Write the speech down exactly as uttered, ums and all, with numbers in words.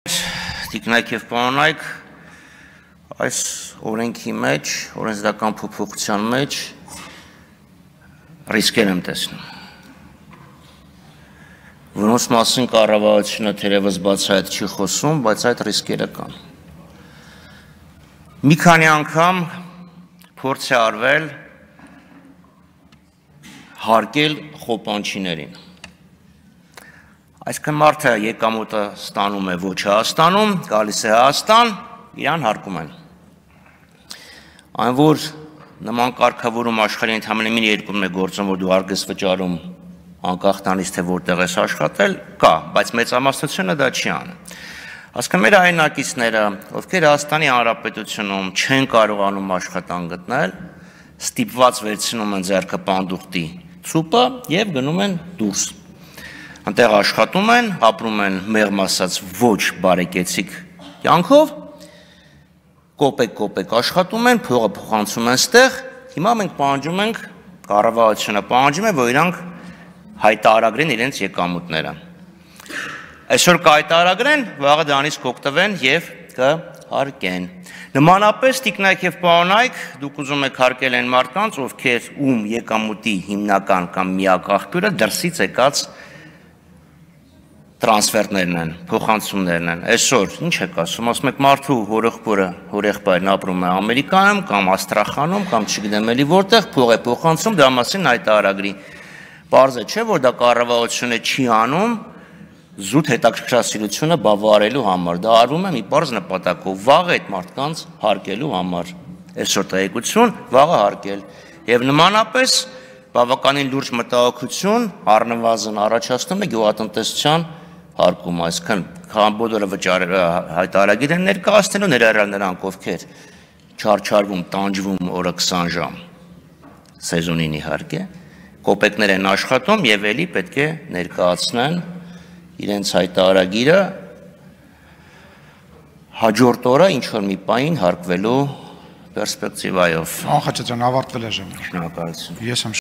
Տիկնայք և պարոնայք, այս օրենքի մեջ, օրենսդրական փոփոխության մեջ ռիսկեր եմ տեսնում, որոնց մասին կառավարությունը թերևս բացահայտ չի խոսում, բայց այդ ռիսկերը կան։ Մի քանի անգամ փորձ է արվել հարկել խոպանչիներին։ Այսինքն մարդը եկամուտը ստանում է ոչ Հայաստանում, գալիս է Հայաստան, իրան հարկում են։ Այն որ նման կարգավորում աշխարհի ընդամենը մի երկրում է գործում, որ դու հարգ ես վճարում անկախ տանից թե որտեղ ես աշխատել, կա, բայց մեծամասնությունը դա չի անում։ Այսինքն մեր հայրենակիցները, ովքեր Հայաստանի Հանրապետությունում չեն կարողանում աշխատանք գտնել, ստիպված վերցնում են ձեռքը պանդուխտի ցուպը եւ գնում են դուրս։ Անտեղ աշխատում են, ապրում են մեղմ ասած ոչ բարեկեցիկ կյանքով, կոպեկ-կոպեկ աշխատում են, փողը փոխանցում են ստեղ, հիմա մենք պահանջում ենք, կառավարությունը պահանջում է, որ իրանք հայտարարեն իրենց եկամուտները։ Այսօր կհայտարարեն, վաղը դրանից կօգտվեն եւ կհարկեն։ Նմանապես տիկնայք եւ պարոնայք, դուք ուզում եք հարկել այն մարդկանց, ովքեր ում եկամուտի հիմնական կամ միակ աղբյուրը դրսից եկած տրանսֆերտներն են, փոխանցումներն են։ Այսօր ինչ եք ասում, ասում եք մարդու հորեղբորը, հորեղբայրն ապրում է Ամերիկայում կամ Աստրախանում կամ չգիտեմ էլի որտեղ, փող է փոխանցում, դրա մասին հայտարարագրի։ Պարզ է, չէ, որ դա կառավարությունը չի անում զուտ հետաքրքրասիրությունը բավարարելու համար, դա արվում է մի պարզ նպատակով, վաղը այդ մարդկանց հարկելու համար։ Այսօր տեղեկություն, վաղը հարկել։ Եվ նմանապես բավականին լուրջ մտահոգություն առնվազն առաջացնում է գյուղատնտեսության հարկում, այսինքն բոլորը վճարը հայտարարագիր են ներկայացնելու, ներառյալ նրանք, ովքեր չարչարվում, տանջվում օրը քսան ժամ, սեզոնին իհարկե, կոպեկներ են աշխատում եւ էլի պետք է ներկայացնեն իրենց հայտարարագիրը հաջորդ օրը ինչ-որ մի պահին հարկվելու պերսպեկտիվայով։ Անխաչատրյան, ավարտվել է ժամանակ։ Շնորհակալություն։ Ես եմ